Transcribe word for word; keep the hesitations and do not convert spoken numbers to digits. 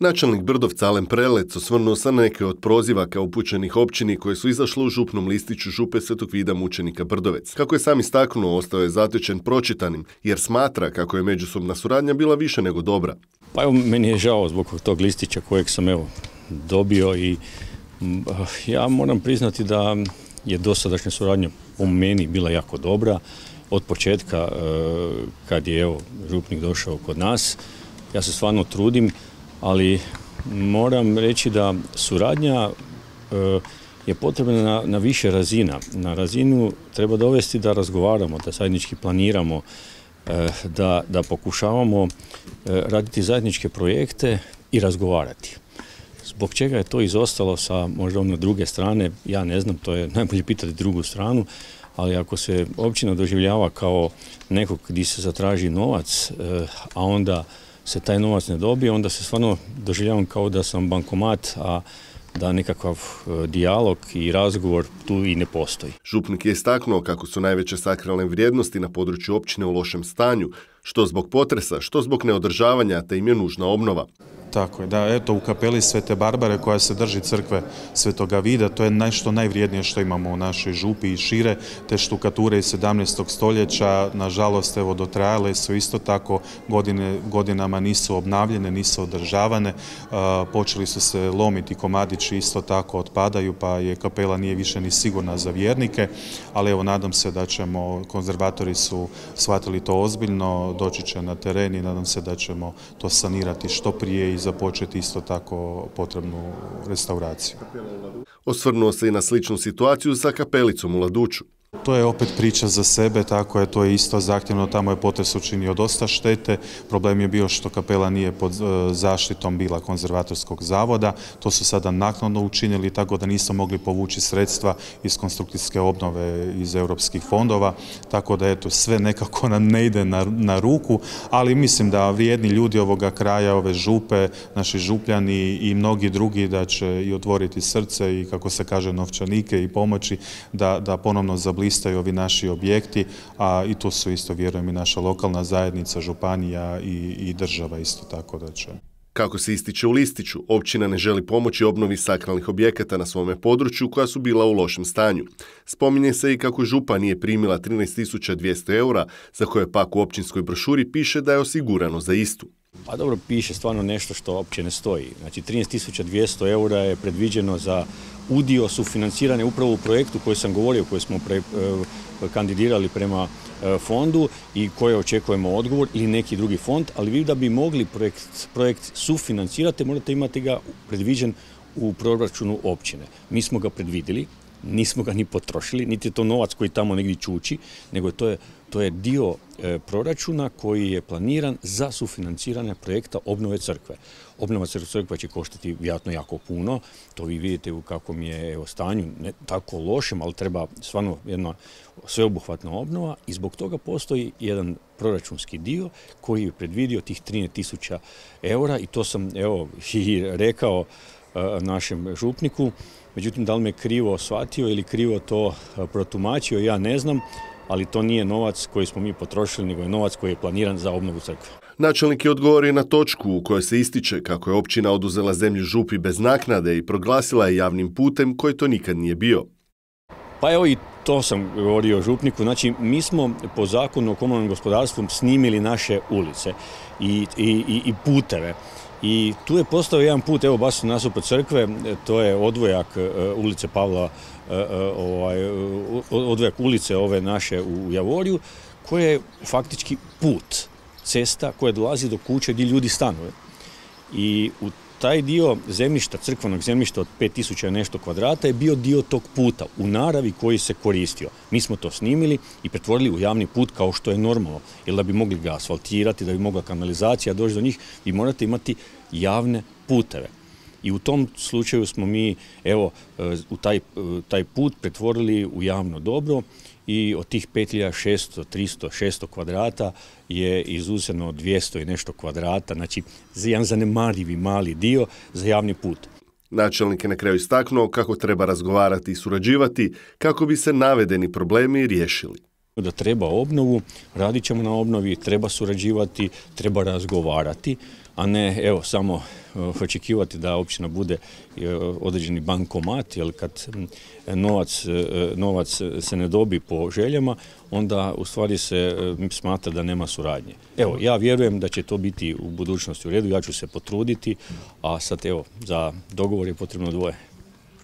Načelnik Brdovca Alen Prelec osvrnuo se na neke od prozivaka upućenih općini koje su izašle u župnom listiću župe Svetog Vida mučenika Brdovec. Kako je sam istaknuo, ostao je zatečen pročitanim jer smatra kako je međusobna suradnja bila više nego dobra. Pa evo, meni je žao zbog tog listića kojeg sam evo dobio i ja moram priznati da je dosadašnja suradnja po meni bila jako dobra. Od početka kad je evo župnik došao kod nas, ja se stvarno trudim, ali moram reći da suradnja je potrebna na, na više razina. Na razinu treba dovesti da razgovaramo, da zajednički planiramo, da, da pokušavamo raditi zajedničke projekte i razgovarati. Zbog čega je to izostalo sa možda ono druge strane, ja ne znam, to je najbolje pitati drugu stranu, ali ako se općina doživljava kao nekog gdje se zatraži novac, a onda se taj novac ne dobije, onda se stvarno doživljavam kao da sam bankomat, a da nekakav dijalog i razgovor tu i ne postoji. Župnik je istaknuo kako su najveće sakralne vrijednosti na području općine u lošem stanju, što zbog potresa, što zbog neodržavanja, te im je nužna obnova. Tako je, da, eto u kapeli Svete Barbare koja se drži crkve Svetoga Vida, to je nešto najvrijednije što imamo u našoj župi i šire. Te štukature iz sedamnaestog stoljeća, nažalost, evo dotrajale su isto tako, godine, godinama nisu obnavljene, nisu održavane, a, počeli su se lomiti komadići, isto tako otpadaju, pa je kapela nije više ni sigurna za vjernike, ali evo nadam se da ćemo, konzervatori su shvatili to ozbiljno, doći će na teren i nadam se da ćemo to sanirati što prije i započeti isto tako potrebnu restauraciju. Osvrnuo se i na sličnu situaciju sa kapelicom u Laduću. To je opet priča za sebe, tako je, to je isto zahtjevno, tamo je potres učinio dosta štete. Problem je bio što kapela nije pod zaštitom bila konzervatorskog zavoda, to su sada naknadno učinili, tako da nismo mogli povući sredstva iz konstrukcijske obnove iz europskih fondova, tako da eto, sve nekako nam ne ide na, na ruku, ali mislim da vrijedni ljudi ovoga kraja, ove župe, naši župljani i mnogi drugi da će i otvoriti srce i, kako se kaže, novčanike i pomoći da, da ponovno zablistaju blistaju ovi naši objekti, a i tu su isto, vjerujem, i naša lokalna zajednica, županija i, i država isto tako da će. Kako se ističe u listiću, općina ne želi pomoći obnovi sakralnih objekata na svome području koja su bila u lošem stanju. Spominje se i kako župa nije primila trinaest tisuća dvjesto eura, za koje pak u općinskoj brošuri piše da je osigurano za istu. Pa dobro, piše stvarno nešto što uopće ne stoji. Znači, trinaest tisuća dvjesto eura je predviđeno za udio sufinancirane upravo u projektu koji sam govorio, koji smo pre, eh, kandidirali prema eh, fondu i koje očekujemo odgovor ili neki drugi fond, ali vi da bi mogli projekt, projekt sufinancirati, morate imati ga predviđen u proračunu općine. Mi smo ga predvidjeli, nismo ga ni potrošili, niti je to novac koji tamo negdje čuči, nego to je, to je dio e, proračuna koji je planiran za sufinanciranje projekta obnove crkve. Obnova crkve će koštati vjerojatno jako puno, to vi vidite u kakvom je evo, stanju, ne tako lošem, ali treba stvarno jedna sveobuhvatna obnova i zbog toga postoji jedan proračunski dio koji je predvidio tih trinaest tisuća eura i to sam evo i rekao e, našem župniku. Međutim, da li me krivo shvatio ili krivo to protumačio, ja ne znam, ali to nije novac koji smo mi potrošili, nego je novac koji je planiran za obnovu crkve. Načelnik je odgovorio na točku u kojoj se ističe kako je općina oduzela zemlju župi bez naknade i proglasila je javnim putem koji to nikad nije bio. Pa evo i to sam govorio župniku, znači mi smo po zakonu o komunalnom gospodarstvu snimili naše ulice i, i, i puteve. I tu je postao jedan put, evo baš nasuprot crkve, to je odvojak ulice Pavla, ovaj, odvojak ulice ove naše u Javoriju, koje je faktički put, cesta koja dolazi do kuće gdje ljudi stanuje. I u taj dio zemljišta, crkvenog zemljišta od pet tisuća nešto kvadrata je bio dio tog puta u naravi koji se koristio. Mi smo to snimili i pretvorili u javni put kao što je normalno. Jer da bi mogli ga asfaltirati, da bi mogla kanalizacija doći do njih, vi morate imati javne puteve. I u tom slučaju smo mi evo, u taj, taj put pretvorili u javno dobro i od tih pet hiljada šesto, tristo, šesto kvadrata je izuzeno dvjesto i nešto kvadrata, znači jedan zanemarivi mali dio za javni put. Načelnik je na kraju istaknuo kako treba razgovarati i surađivati kako bi se navedeni problemi riješili. Da treba obnovu, radit ćemo na obnovi, treba surađivati, treba razgovarati, a ne evo samo očekivati da općina bude određeni bankomat, jer kad novac, novac se ne dobi po željama, onda u stvari se smatra da nema suradnje. Evo, ja vjerujem da će to biti u budućnosti u redu, ja ću se potruditi, a sad evo, za dogovor je potrebno dvoje.